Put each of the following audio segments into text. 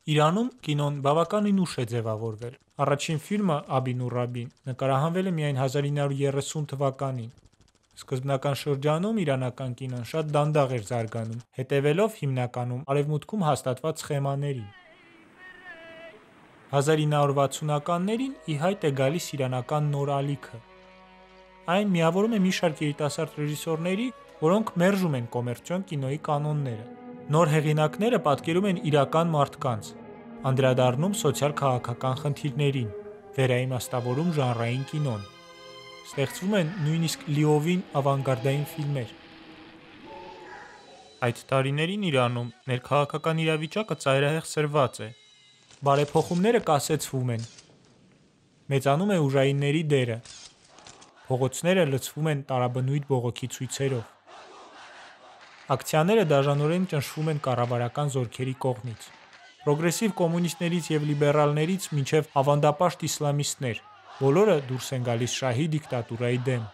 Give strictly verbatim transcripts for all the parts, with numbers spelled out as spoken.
Իրանում կինոն բավականին ուշ է ձևավորվել։ Առաջին ֆիլմը «Աբին ու Ռաբին» նկարահանվել է միայն հազար ինը հարյուր երեսուն թվականին։ Սկզբնական շրջանում իրանական կինոն շատ դանդաղ էր զարգանում, հետևելով հիմնականում Արևմուտքում հաստատված սխեմաներին։ հազար ինը հարյուր վաթսունականներին ի հայտ է գալիս իրանական նոր ալիքը։ Այն միավորում է մի շարք երիտասարդ ռեժիսորների, որոնք մերժում են կոմերցիոն կինոյի կանոնները։ Նոր հեղինակները պատկերում են իրական մարդկանց, անդրադառնում սոցիալ-քաղաքական խնդիրներին, վերաիմաստավորում ժանրային կինոն։ Ստեղծվում են նույնիսկ լիովին ավանգարդային ֆիլմեր։ Այդ տարիներին Իրանում ներքաղաքական իրավիճակը ծայրահեղ սրված է։ Բարեփոխումները կասեցվում են։ Մեծանում է ուժայինների դերը։ Փողոցները լցվում են տարաբնույթ բողոքի ցույցերով։ Ակցիաները դաժանորեն ճնշվում են կառավարական զորքերի կողմից։ Պրոգրեսիվ կոմունիստներից և լիբերալներից մինչև ավանդապաշտ իսլամիստներ, բոլորը դուրս են գալիս շահի դիկտատուրայի դեմ։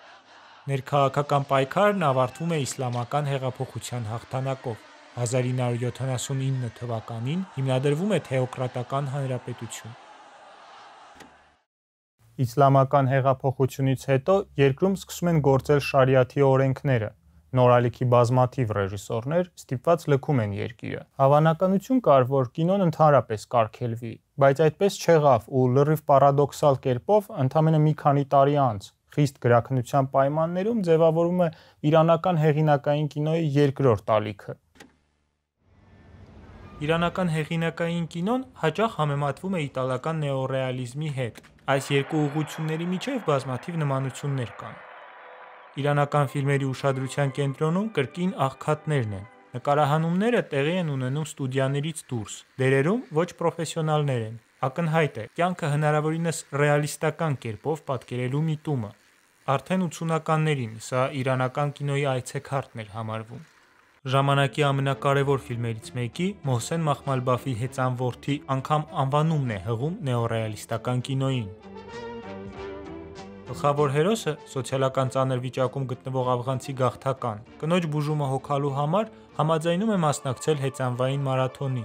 Ներքաղաքական պայքարն ավարտվում է իսլամական հեղափոխության հաղթանակով։ հազար ինը հարյուր յոթանասունինը թվականին հիմնադրվում է Թեոկրատական հանրապետություն։ Իսլամական հեղափոխությունից հետո երկրում սկսում են գործել շարիաթի օրենքները։ Նոր ալիքի բազմաթիվ ռեժիսորներ ստիպված լքում են երկիրը։ Հավանականություն կար, որ կինոն ընդհանրապես կարգելվի, բայց այդպես չեղավ ու լրիվ պարադոքսալ կերպով ընդամենը մի քանի տարի անց խիստ գրաքննության պայմաններում ձևավորվում է իրանական հեղինակային կինոյի երկրորդ ալիքը։ Իրանական հեղինակային կինոն հաճախ համեմատվում է իտալական նեոռեալիզմի հետ։ Այս երկու ուղղությունների միջև բազմաթիվ նմանություններ կան։ Իրանական ֆիլմերի ուշադրության կենտրոնում կրկին աղքատներն են։ Նկարահանումները տեղի են ունենում ստուդիաներից դուրս, դերերում ոչ պրոֆեսիոնալներ են։ Ակնհայտ է կյանքը հնարավորինս ռեալիստական կերպով պատկերելու միտումը։ Արդեն ութսունականներին սա իրանական կինոյի այցեքարտն էր համարվում։ Ժամանակի ամենակարևոր ֆիլմերից մեկի՝ Մոհսեն Մախմալբաֆի հեծան որդի անգամ անվանումն է հղում նեոռեալիստական կինոյին։ Գլխավոր հերոսը սոցիալական ծանր վիճակում գտնվող աֆղանցի գաղթական, կնոջ բուժումը հոգալու համար համաձայնում է մասնակցել հեծանվային մարաթոնի։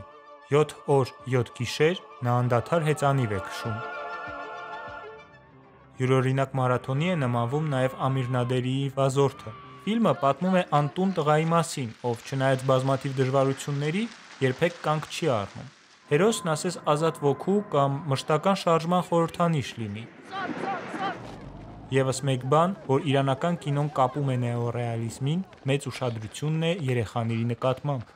Յոթ օր, յոթ գիշեր նա անդադար հեծանիվ է քշում։ Յուրօրինակ մարաթոնի է նմանվում նաև Ամիր Նադերիի «Վազորդը»։ Ֆիլմը պատմում է անտուն տղայի մասին, ով չնայած բազմաթիվ դժվարությունների, երբեք կանգ չի առնում։ Հերոսն ասես ազատ ոգու կամ մշտական շարժման խորհրդանիշ լինի։ Եվս մեկ բան, որ իրանական կինոն կապում է նեոռեալիզմին, մեծ ուշադրությունն է երեխաների նկատմամբ։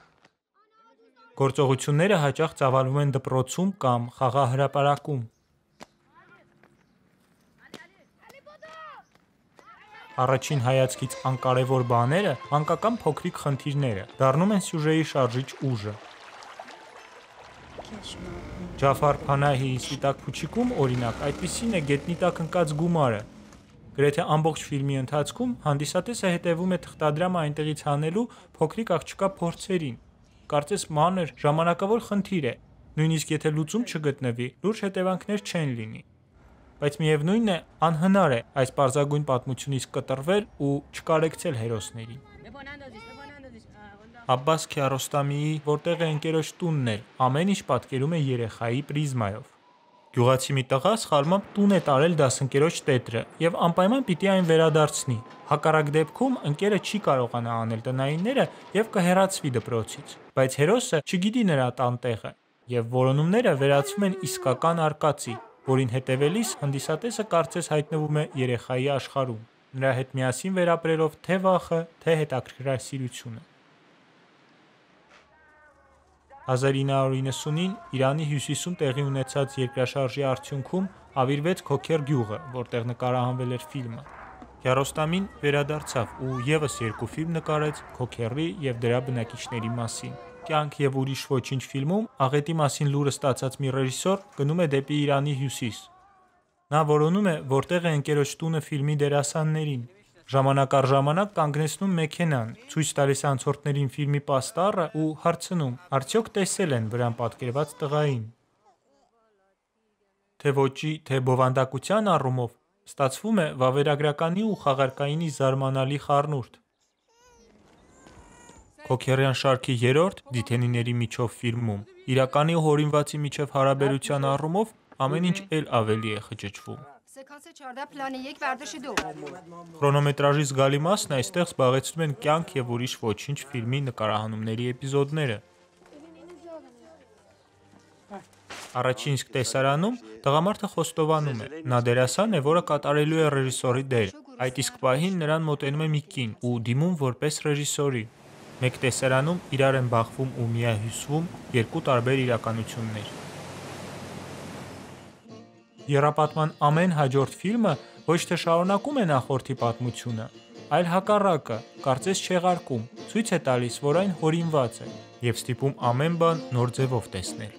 Գործողությունները հաճախ ծավալվում են դպրոցում կամ խաղահրապարակում։ Առաջին հայացքից անկարևոր բաները մանկական փոքրիկ խնդիրները դառնում են սյուժեի շարժիչ ուժը։ Ջաֆար Փանահիի «Սպիտակ փուչիկում» օրինակ այդպիսին է գետնի տակ ընկած գումարը։ Գրեթե ամբողջ ֆիլմի ընթացքում հանդիսատեսը հետևում է թղթադրամը այնտեղից հանելու փոքրիկ աղջկա փորձերին։ Կարծես մանր, ժամանակավոր խնդիր է, նույնիսկ եթե լուծում չգտնվի, լուրջ հետևանքներ չեն լինի։ Բայց միևնույն է, անհնար է այս պարզագույն պատմությունից կտրվել ու չկարեկցել հերոսներին։ Աբբաս Քիարոստամիի «Որտեղ է ընկերոջ տունն» էլ ամեն ինչ պատկերում է երեխայի պրիզմայով։ Գյուղացի մի տղա սխալմամբ տուն է տարել դասընկերոջ տետրը և անպայման պիտի այն վերադարձնի։ Հակառակ դեպքում ընկերը չի կարողանա անել տնայինները և կհեռացվի դպրոցից։ Բայց հերոսը չգիտի նրա տան տեղը, և որոնումները վերածվում են իսկական արկածի, որին հետևելիս հանդիսատեսը կարծես հայտնվում է երեխայի աշխարհում, նրա հետ միասին վերապրելով թե վախը, թե հետաքրքրասիրությունը։ հազար ինը հարյուր իննսունին Իրանի հյուսիսում տեղի ունեցած երկրաշարժի արդյունքում ավիրվեց Քոքեր գյուղը, որտեղ նկարահանվել էր ֆիլմը։ Քիարոստամին վերադարձավ ու ևս երկու ֆիլմ նկարեց Քոքերի և դրա բնակիչների մասին։ «Կյանք և ուրիշ ոչինչ» ֆիլմում աղետի մասին լուրը ստացած մի ռեժիսոր գնում է դեպի Իրանի հյուսիս։ Նա որոնում է «Որտեղ է ընկերոջ տունը» ֆիլմի դերասաններին։ Ժամանակ առ ժամանակ կանգնեցնում մեքենան, ցույց տալիս անցորդներին ֆիլմի պաստառը ու հարցնում՝ արդյոք տեսե՞լ են վրան պատկերված տղային։ Թե ոճի, թե բովանդակության առումով ստացվում է վավերագրականի ու խաղարկայինի զարմանալի խառնուրդ։ Քոքերյան շարքի երրորդ Դիթենիների միջով ֆիլմում իրականի ու հորինվածի միջև հարաբերության առումով ամեն ինչ էլ ավելի է խճճվում։ Քրոնոմետրաժի զգալի մասն այստեղ զբաղեցնում են «Կյանք և ուրիշ ոչինչ» ֆիլմի նկարահանումների էպիզոդները։ Առաջին իսկ տեսարանում տղամարդը խոստովանում է. նա դերասան է, որը կատարելու է ռեժիսորի դեր։ Այդ իսկ պահին նրան մոտենում է մի կին ու դիմում որպես ռեժիսորի։ Մեկ տեսարանում իրար են բախվում ու միահյուսվում երկու տարբեր իրականություններ։ Եռապատման ամեն հաջորդ ֆիլմը ոչ թե շարունակում է նախորդի պատմությունը, այլ հակառակը, կարծես չեղարկում, ցույց է տալիս, որ այն հորինված է, և ստիպում ամեն բան նոր ձևով տեսնել։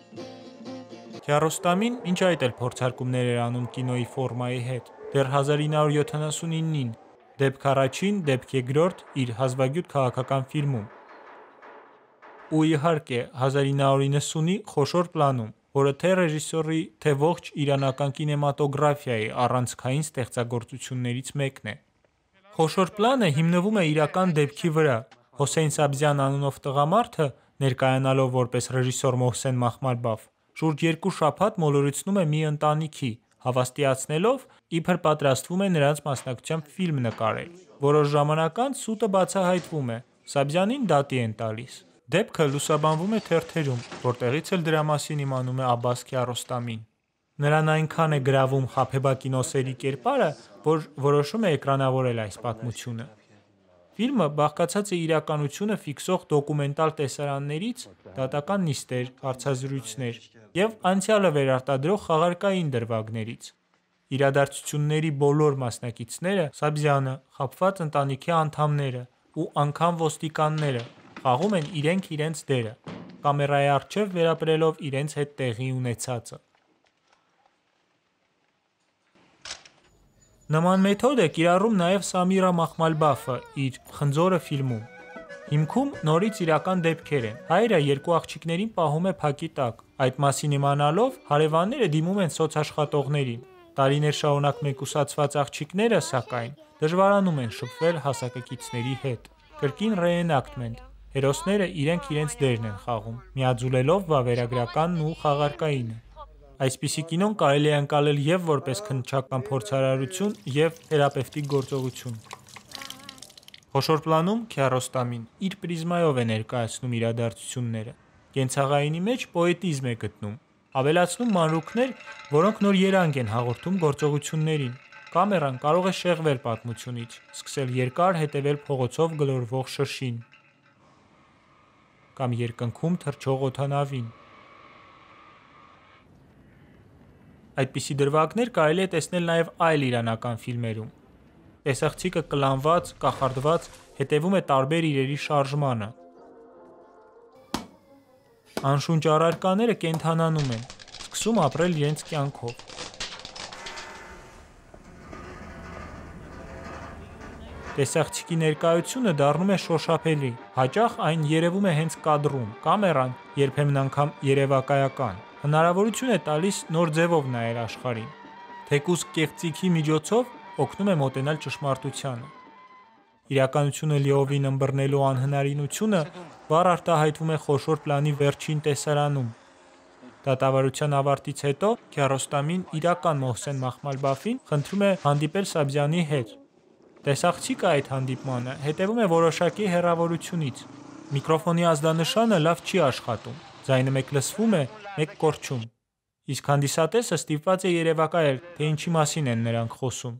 Քիարոստամին մինչ այդ էլ փորձարկումներ էր անում կինոյի ֆորմայի հետ։ Դեռ հազար ինը հարյուր յոթանասունինին «Դեպք առաջին, դեպք երկրորդ» իր հազվագյուտ քաղաքական ֆիլմում։ Ու իհարկե հազար ինը հարյուր իննսունի «Խոշոր պլանում», որը թե ռեժիսորի, թե ողջ իրանական կինեմատոգրաֆիայի առանցքային ստեղծագործություններից մեկն է։ «Խոշոր պլանը» հիմնվում է իրական դեպքի վրա։ Հոսեյն Սաբզյան անունով տղամարդը, ներկայանալով որպես ռեժիսոր Մոհսեն Մախմալբաֆ, շուրջ երկու շաբաթ մոլորեցնում է մի ընտանիքի, հավաստիացնելով, իբր պատրաստվում է նրանց մասնակցությամբ ֆիլմ նկարել։ Որոշ ժամանակ անց սուտը բացահայտվում է, Սաբզյանին դատի են տալիս։ Դեպքը լուսաբանվում է թերթերում, որտեղից էլ դրա մասին իմանում է Աբբաս Քիարոստամին։ Նրան այնքան է գրավում Խաբեբա կինոսերի կերպարը, որ որոշում է էկրանավորել այս պատմությունը։ Ֆիլմը բաղկացած է իրականությունը ֆիքսող դոկումենտալ տեսարաններից, դատական նիստեր, հարցազրույցներ և անցյալը վերարտադրող խաղարկային դրվագներից։ Իրադարձությունների բոլոր մասնակիցները՝ Սաբզյանը, խաբված ընտանիքի անդամները ու անգամ ոստիկանները, խաղում են իրենք իրենց դերը՝ կամերայի առջև վերապրելով իրենց հետ տեղի ունեցածը։ Նման մեթոդ է կիրառում նաև Սամիրա Մախմալբաֆը իր «Խնձորը» ֆիլմում։ Հիմքում նորից իրական դեպքեր են։ Հայրը երկու աղջիկներին պահում է փակի տակ։ Այդ մասին իմանալով հարևանները դիմում են սոցաշխատողներին։ Տարիներ շարունակ մեկուսացված աղջիկները, սակայն, դժվարանում են շփվել հասակակիցների հետ։ Կրկին ռեէնակտմենտ՝ հերոսները իրենք իրենց դերն են խաղում՝ միաձուլելով վավերագրականն ու խաղարկայինը։ Այսպիսի կինոն կարելի է ընկալել և որպես քննչական փորձարարություն, և թերապևտիկ գործողություն։ Խոշոր պլանում Քիարոստամին իր պրիզմայով է ներկայացնում իրադարձությունները։ Կենցաղայինի մեջ պոետիզմ է գտնում, ավելացնում մանրուքներ, որոնք նոր երանգ են հաղորդում գործողություններին։ Կամերան կարող է շեղվել պատմությունից, սկսել երկար հետևել փողոցով գլորվող շշին կամ երկնքում թռչող օդանավին։ Այդպիսի դրվագներ կարելի է տեսնել նաև այլ իրանական ֆիլմերում։ Տեսախցիկը կլանված, կախարդված հետևում է տարբեր իրերի շարժմանը։ Անշունչ առարկաները կենդանանում են, սկսում ապրել իրենց կյանքով։ Տեսախցիկի ներկայությունը դառնում է շոշափելի, հաճախ այն երևում է հենց կադրում, կամերան երբեմն անգամ երևակայական, հնարավորություն է տալիս նոր ձևով նայել աշխարհին։ Թեկուզ կեղծիքի միջոցով օգնում է մոտենալ ճշմարտությանը։ Իրականությունը լիովին ըմբռնելու անհնարինությունը վառ արտահայտվում է խոշոր պլանի վերջին տեսարանում։ Դատավարության ավարտից հետո Քիարոստամին իրական Մոհսեն Մախմալբաֆին խնդրում է հանդիպել Սաբզյանի հետ։ Տեսախցիկը այդ հանդիպմանը հետևում է որոշակի հեռավորությունից։ Միկրոֆոնի ազդանշանը լավ չի աշխատում, ձայնը մեկ լսվում է, մեկ կորչում։ Իսկ հանդիսատեսը ստիպված է երևակայել, թե ինչի մասին են նրանք խոսում։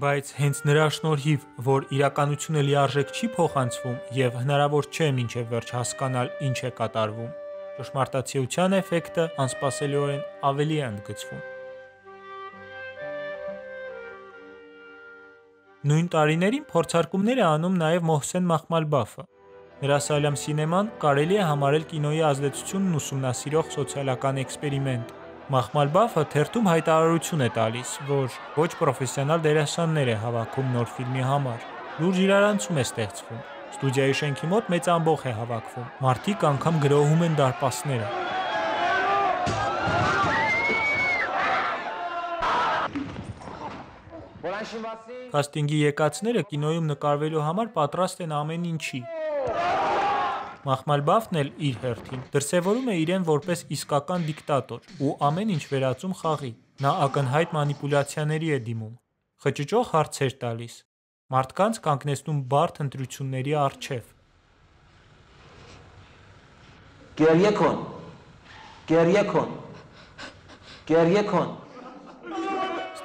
Բայց հենց նրա շնորհիվ, որ իրականությունը լիարժեք չի փոխանցվում և հնարավոր չէ մինչև վերջ հասկանալ ինչ է կատարվում, ճշմարտացիության էֆեկտը անսպասելիորեն ավելի է ընդգծվում։ Նույն տարիներին փորձարկումներ է անում նաև Մոհսեն Մախմալբաֆը։ Նրա Սալամ սինեման կարելի է համարել կինոյի ազդեցությունն ուսումնասիրող սոցիալական էքսպերիմենտ։ Մախմալբաֆը թերթում հայտարարություն է տալիս, որ ոչ պրոֆեսիոնալ դերասաններ է հավաքում նոր ֆիլմի համար։ Լուրջ իրարանցում է ստեղծվում։ Ստուդիայի շենքի մոտ մեծ ամբոխ է հավաքվում։ Մարդիկ անգամ գրոհում են դարպասները։ Քաստինգի եկածները կինոյում նկարվելու համար պատրաստ են ամեն ինչի։ Մախմալբաֆն էլ իր հերթին դրսևորում է իրեն որպես իսկական դիկտատոր ու ամեն ինչ վերածում խաղի։ Նա ակնհայտ մանիպուլյացիաների է դիմում, խճճող հարցեր տալիս, մարդկանց կանգնեցնում բարդ ընտրությունների առջև։ Գերիեքոն, գերիեքոն, գերիեքոն։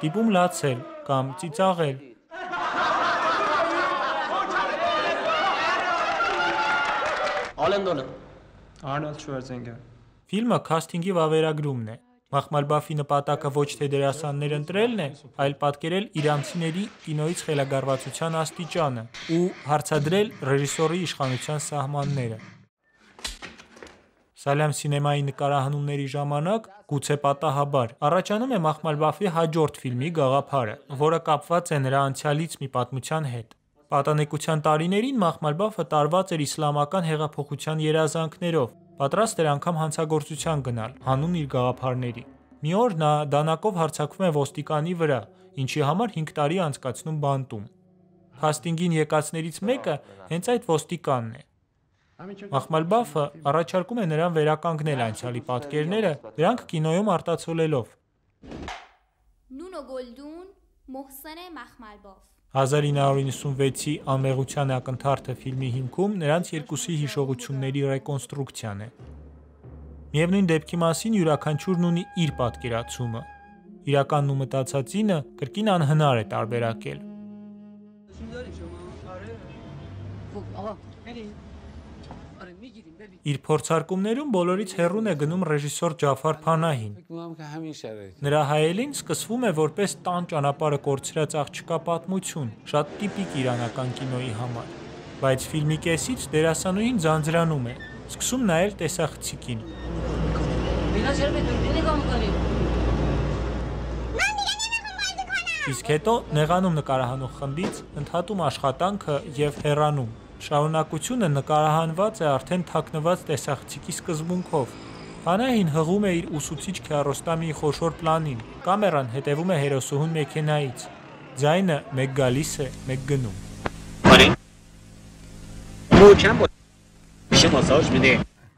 Ստիպում լացել կամ ծիծաղել։ Ալենդոնը։ Արնոլդ Շվարցենեգեր։ Ֆիլմը քաստինգի վավերագրումն է։ Մախմալբաֆի նպատակը ոչ թե դերասաններ ընտրելն է, այլ պատկերել իրանցիների կինոյից խելագարվածության աստիճանը ու հարցադրել ռեժիսորի իշխանության սահմանները։ Սալամ սինեմայի նկարահանումների ժամանակ, գուցե պատահաբար, առաջանում է Մախմալբաֆի հաջորդ ֆիլմի գաղափարը, որը կապված է նրա անցյալից մի պատմության հետ։ Պատանեկության տարիներին Մախմալբաֆը տարված էր իսլամական հեղափոխության երազանքներով, պատրաստ էր անգամ հանցագործության գնալ, հանուն իր գաղափարների։ Մի օր նա դանակով հարձակվում է ոստիկանի վրա, ինչի համար հինգ տարի անցկացնում բանտում։ Քաստինգին եկածներից մեկը հենց այդ ոստիկանն է։ Մախմալբաֆը առաջարկում է նրան վերականգնել անցյալի պատկերները, դրանք կինոյում արտացոլելով։ Նունո Գոլդուն, Մոհսեն Մախմալբաֆ հազար ինը հարյուր նվսանվեցի Անմեղության ակնթարթը ֆիլմի հիմքում նրանց երկուսի հիշողությունների ռեկոնստրուկցիան է։ Միևնույն դեպքի մասին յուրաքանչյուրն ունի իր պատկերացումը։ Իրականն ու մտածածինը կրկին անհնար է տարբերակել։ Իր փորձարկումներում բոլորից հեռուն է գնում ռեժիսոր Ջաֆար Փանահին։ Նրա հայելին սկսվում է որպես տան ճանապարհը կորցրած աղջկա պատմություն, շատ տիպիկ իրանական կինոյի համար։ Բայց ֆիլմի կեսից դերասանուհին ձանձրանում է, սկսում նայել տեսախցիկին։ Իսկ հետո նեղանում նկարահանող խմբից, ընդհատում աշխատանքը եւ հեռանում։ Շարունակությունը նկարահանված է արդեն թաքնված տեսախցիկի սկզբունքով։ Փանահին հղում է իր ուսուցիչ քյարոստամի խոշոր պլանին, կամերան հետևում է հերոսուհուն մեքենայից։ Ձայնը մեկ գալիս է, մեկ գնում։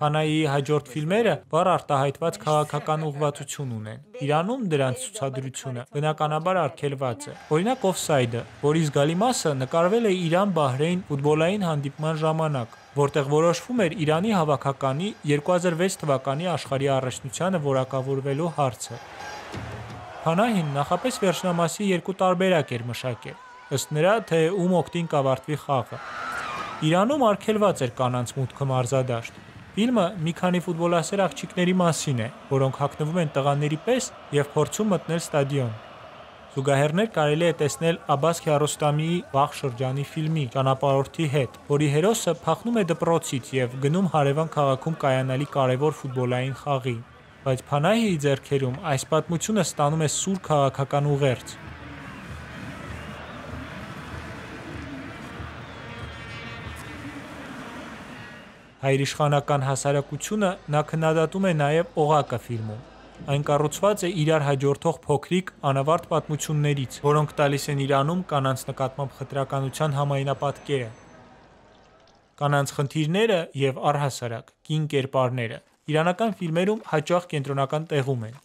Փանահիի հաջորդ ֆիլմերը վառ արտահայտված քաղաքական ուղղվածություն ունեն։ Իրանում դրանց ցուցադրությունը բնականաբար արգելված է։ Օրինակ Օֆսայդը, որի զգալի մասը նկարվել է Իրան-Բահրեյն ֆուտբոլային հանդիպման ժամանակ, որտեղ որոշվում էր Իրանի հավաքականի երկու հազար վեց թվականի աշխարհի առաջնությանը որակավորվելու հարցը։ Փանահին նախապես վերջնամասի երկու տարբերակ էր մշակել, ըստ նրա, թե ում օգտին կավարտվի խաղը։ Իրանում արգելված էր կանանց մուտքը մարզադաշտ։ Ֆիլմը մի քանի ֆուտբոլասեր աղջիկների մասին է, որոնք հագնվում են տղաների պես եւ փորձում մտնել ստադիոն։ Զուգահեռներ կարելի է տեսնել Աբբաս Քիարոստամիի վաղ շրջանի ֆիլմի «Ճանապարհորդի հետ», որի հերոսը փախնում է դպրոցից եւ գնում հարևան քաղաքում կայանալի կարևոր ֆուտբոլային խաղի։ Բայց Փանահիի ձեռքերում այս պատմությունը ստանում է սուր քաղաքական ուղերձ։ Հայրիշխանական հասարակությունը նա քննադատում է նաև օղակը ֆիլմում։ Այն կառուցված է իրար հաջորդող փոքրիկ անավարտ պատմություններից, որոնք տալիս են Իրանում կանանց նկատմամբ խտրականության համայնապատկերը։ Կանանց խնդիրները եւ առհասարակ կին կերպարները իրանական ֆիլմերում հաճախ կենտրոնական տեղում են։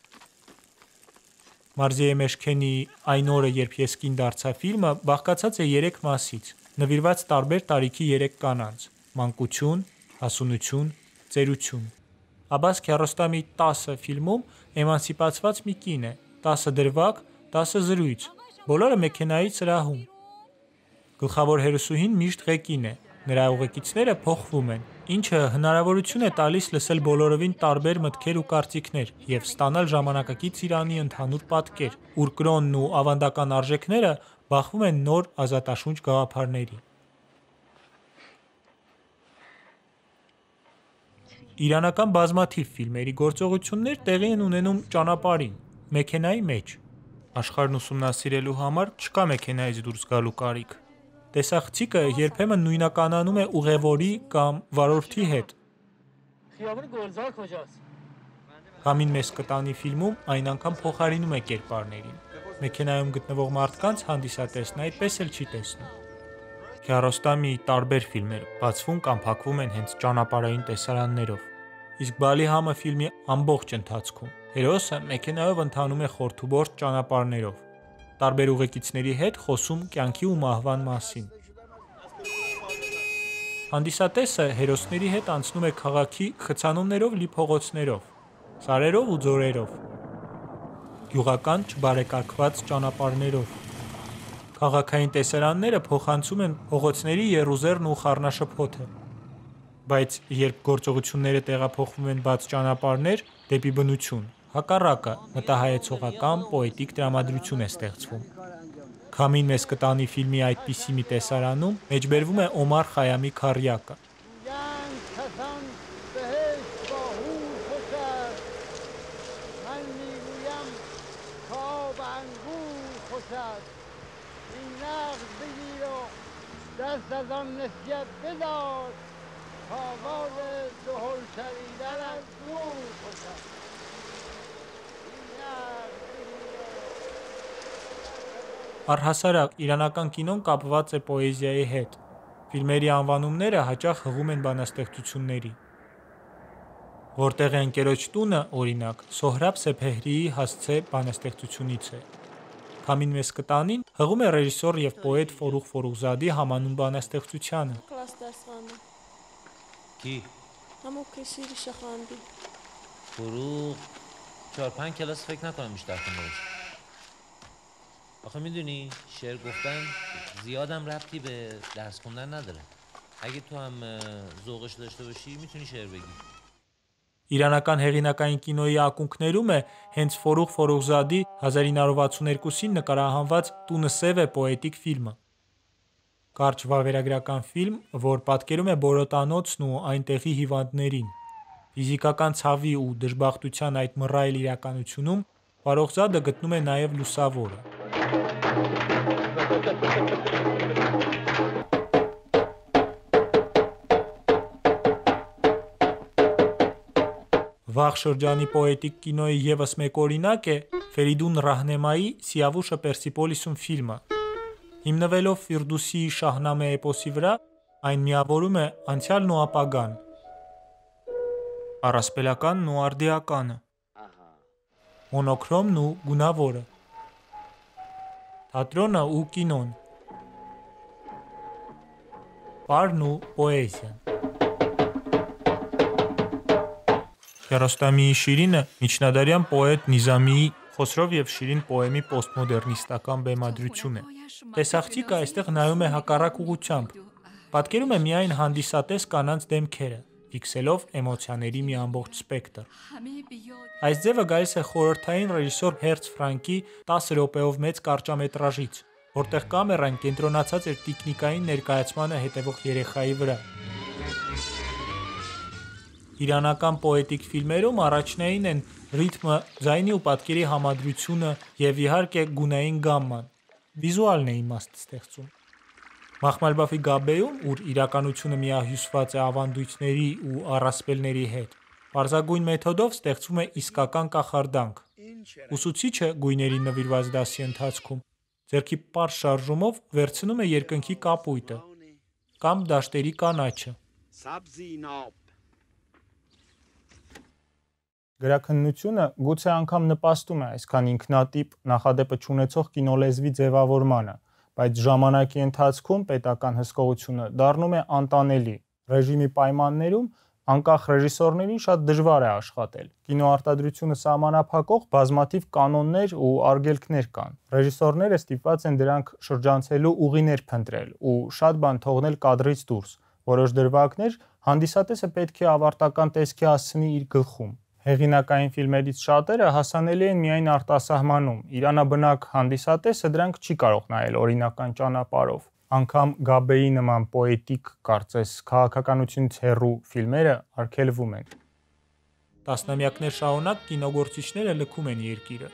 Մարզիե Մեշքենիի «Այն օրը, երբ ես կին դարձա» ֆիլմը բաղկացած է երեք մասից, նվիրված տարբեր տարիքի երեք կանանց՝ մանկություն, հասունություն, ծերություն։ Աբբաս Քիարոստամի տասը ֆիլմում էմանսիպացված մի կին է, տասը դրվագ, տասը զրույց, բոլորը մեքենայի սրահում։ Գլխավոր հերոսուհին միշտ ղեկին է, նրա ուղեկիցները փոխվում են, ինչը հնարավորություն է տալիս լսել բոլորովին տարբեր մտքեր ու կարծիքներ եւ ստանալ ժամանակակից Իրանի ընդհանուր պատկեր, ուր կրոնն ու ավանդական արժեքները բախվում են նոր ազատաշունչ գաղափարների։ Իրանական բազմաթիվ ֆիլմերի գործողություններ տեղի են ունենում ճանապարհին, մեքենայի մեջ։ Աշխարհն ուսումնասիրելու համար չկա մեքենայից դուրս գալու կարիք։ Տեսախցիկը երբեմն նույնականանում է ուղևորի կամ վարորդի հետ։ Քամին մեզ կտանի ֆիլմում այն անգամ փոխարինում է կերպարներին։ Մեքենայում գտնվող մարդկանց հանդիսատեսն այդպես էլ չի տեսնում։ Քիարոստամիի տարբեր ֆիլմեր բացվում կամ փակվում են հենց ճանապարհային տեսարաններով։ Իսկ Բալիհամը ֆիլմի ամբողջ ընթացքում հերոսը մեքենայով ընթանում է խորթուբորտ ճանապարհներով, տարբեր ուղեկիցների հետ խոսում կյանքի ու մահվան մասին։ Հանդիսատեսը հերոսների հետ անցնում է քաղաքի խցանումներով լի փողոցներով, սարերով ու ձորերով, գյուղական չբարեկարգված ճանապարհներով։ Քաղաքային տեսարանները փոխանցում են փողոցների եռուզեռն ու խառնաշփոթը, բայց երբ գործողությունները տեղափոխվում են բաց ճանապարհներ դեպի բնություն, հակառակը մտահայեցողական պոետիկ տրամադրություն է ստեղծվում։ Քամին մեզ կտանի ֆիլմի այդպիսի մի տեսարանում մեջբերվում է Օմար Խայամի քառյակը։ دست از آن نسیت بدار آواز دهل شنیدن از دور خوشد Առհասարակ իրանական կինոն կապված է պոեզիայի հետ։ Ֆիլմերի անվանումները հաճախ հղում են բանաստեղծությունների։ Որտեղ է ընկերոջ տունը, օրինակ, Սոհրաբ Սեփեհրիի հասցե բանաստեղծությունից է։ Քամին մեզ կտանին հղում է ռեժիսոր եւ պոետ Ֆորուղ Ֆորուղզադի համանուն բանաստեղծությանը։ Կլաս դասվանը։ کی؟ همون کسی ریشه خواندی. فروغ چهار پنج کلاس فکر نکنم بیشتر خونده باشه. آخه میدونی شعر گفتن زیادم ربطی به درس خوندن نداره. اگه تو هم ذوقش داشته باشی میتونی شعر بگی. Իրանական հեղինակային կինոյի ակունքներում է հենց Ֆորուղ Ֆորուղզադի հազար ինը հարյուր վաթսուներկուսին նկարահանված «Տունը սև է» պոետիկ ֆիլմը։ Կարճ վավերագրական ֆիլմ, որ պատկերում է Բորոտանոցն ու այնտեղի հիվանդներին։ Ֆիզիկական ցավի ու դժբախտության այդ մռայլ իրականությունում Ֆարոխզադը գտնում է նաև լուսավորը։ Վաղ շրջանի պոետիկ կինոյի ևս մեկ օրինակ է Ֆերիդուն Ռահնեմայի «Սիավուշը Պերսիպոլիսում» ֆիլմը։ Հիմնվելով Ֆիրդուսիի Շահնամե էպոսի վրա, այն միավորում է անցյալն ու ապագան, առասպելականն ու արդիականը, մոնոքրոմն ու գունավորը, թատրոնը ու կինոն, պարն ու պոեզիան։ Քիարոստամիի Շիրինը միջնադարյան պոետ Նիզամիի Խոսրով եւ Շիրին պոեմի պոստմոդեռնիստական բեմադրություն է։ Տեսախցիկը այստեղ նայում է հակառակ ուղղությամբ, պատկերում է միայն հանդիսատես կանանց դեմքերը, ֆիքսելով էմոցիաների մի ամբողջ սպեկտր։ Այս ձևը գալիս է խորհրդային ռեժիսոր Հերց Ֆրանկի տասը րոպեով մեծ կարճամետրաժից, որտեղ կամերան կենտրոնացած էր տիկնիկային ներկայացմանը հետևող երեխայի վրա։ Իրանական պոետիկ ֆիլմերում առաջնային են ռիթմը, ձայնի ու պատկերի համադրությունը եւ իհարկե գունային գամման։ Վիզուալն է իմաստ ստեղծում։ Մախմալբաֆի Գաբեում, ուր իրականությունը միահյուսված է ավանդույթների ու առասպելների հետ, պարզագույն մեթոդով ստեղծվում է իսկական կախարդանք։ Ուսուցիչը գույների նվիրված դասի ընթացքում ձեռքի պարզ շարժումով վերցնում է երկնքի կապույտը կամ դաշտերի կանաչը։ Գրաքննությունը գուցե անգամ նպաստում է այսքան ինքնատիպ նախադեպը չունեցող կինոլեզվի ձևավորմանը, բայց ժամանակի ընթացքում պետական հսկողությունը դառնում է անտանելի։ Ռեժիմի պայմաններում անկախ ռեժիսորներին շատ դժվար է աշխատել։ Կինոարտադրությունը սահմանափակող բազմաթիվ կանոններ ու արգելքներ կան։ Ռեժիսորները ստիպված են դրանք շրջանցելու ուղիներ փնտրել ու շատ բան թողնել կադրից դուրս։ Որոշ դրվագներ հանդիսատեսը պետք է ավարտական տեսքի հասցնի իր գլխում։ Հեղինակային ֆիլմերից շատերը հասանելի են միայն արտասահմանում։ Իրանաբնակ հանդիսատեսը դրանք չի կարող նայել օրինական ճանապարհով։ Անգամ Գաբեի նման պոետիկ, կարծես քաղաքականությունից հեռու ֆիլմերը արգելվում են։ Տասնամյակներ շարունակ կինոգործիչները լքում են երկիրը։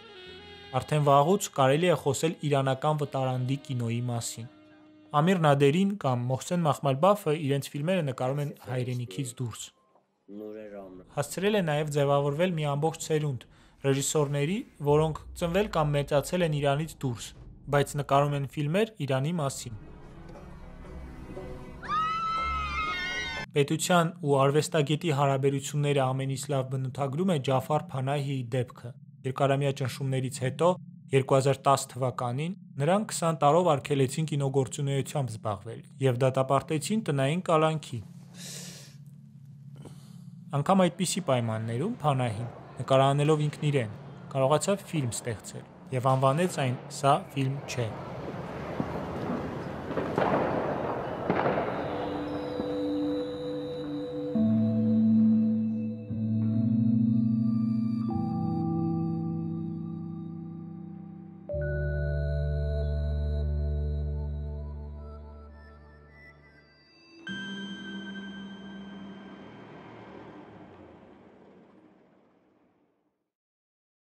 Արդեն վաղուց կարելի է խոսել իրանական վտարանդի կինոյի մասին։ Ամիր Նադերին կամ Մոհսեն Մախմալբաֆը իրենց ֆիլմերը նկարում են հայրենիքից դուրս։ Հասցրել է նաև ձևավորվել մի ամբողջ սերունդ ռեժիսորների, որոնք ծնվել կամ մեծացել են Իրանից դուրս, բայց նկարում են ֆիլմեր Իրանի մասին։ Պետության ու արվեստագետի հարաբերությունները ամենից լավ բնութագրում է Ջաֆար Փանահիի դեպքը։ Երկարամյա ճնշումներից հետո երկու հազար տասը թվականին նրան քսան տարով արգելեցին կինոգործունեությամբ զբաղվել և դատապարտեցին տնային կալանքի։ Անգամ այդպիսի պայմաններում Փանահին, նկարահանելով ինքն իրեն, կարողացավ ֆիլմ ստեղծել և անվանեց այն «Սա ֆիլմ չէ»։